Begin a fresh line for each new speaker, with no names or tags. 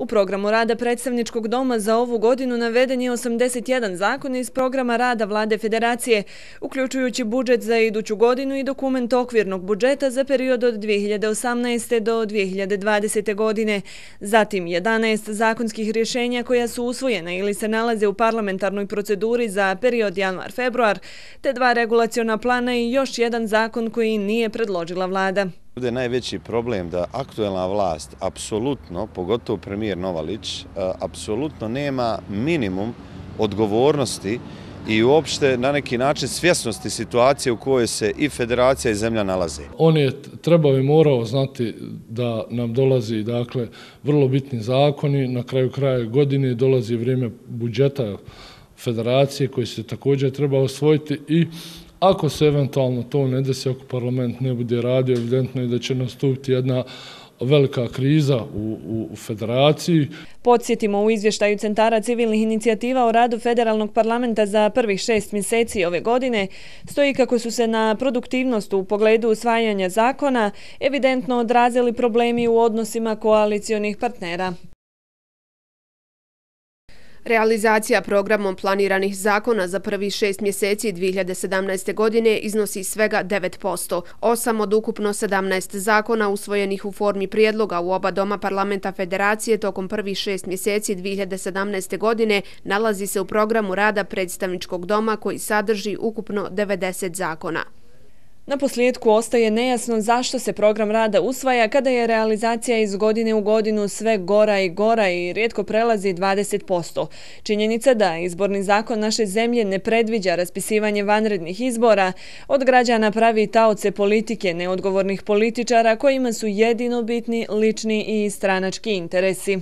U programu rada Predstavničkog doma za ovu godinu naveden je 81 zakon iz programa rada Vlade Federacije, uključujući budžet za iduću godinu i dokument okvirnog budžeta za period od 2018. do 2020. godine. Zatim 11 zakonskih rješenja koja su usvojena ili se nalaze u parlamentarnoj proceduri za period januar-februar, te 2 regulaciona plana i još jedan zakon koji nije predložila vlada.
Ovdje je najveći problem da aktuelna vlast, apsolutno, pogotovo premijer Novalić, apsolutno nema minimum odgovornosti i uopšte na neki način svjesnosti situacije u kojoj se i federacija i zemlja nalaze.
On je trebao i morao znati da nam dolazi vrlo bitni zakoni, na kraju kraja godine dolazi vrijeme budžeta federacije koji se također treba osvojiti i ako se eventualno to ne desi, ako parlament ne bude radio, evidentno je da će nastupiti jedna velika kriza u federaciji.
Podsjetimo, u izvještaju Centara civilnih inicijativa o radu federalnog parlamenta za prvih 6 mjeseci ove godine stoji kako su se na produktivnost u pogledu usvajanja zakona evidentno odrazili problemi u odnosima koalicionih partnera.
Realizacija programom planiranih zakona za prvih 6 mjeseci 2017. godine iznosi svega 9%. 8 od ukupno 17 zakona usvojenih u formi prijedloga u oba doma parlamenta Federacije tokom prvih 6 mjeseci 2017. godine nalazi se u programu rada Predstavničkog doma koji sadrži ukupno 90 zakona.
Na posljedku ostaje nejasno zašto se program rada usvaja kada je realizacija iz godine u godinu sve gora i gora i rijetko prelazi 20%. Činjenica da izborni zakon naše zemlje ne predviđa raspisivanje vanrednih izbora od građana pravi taoce politike neodgovornih političara kojima su jedino bitni lični i stranački interesi.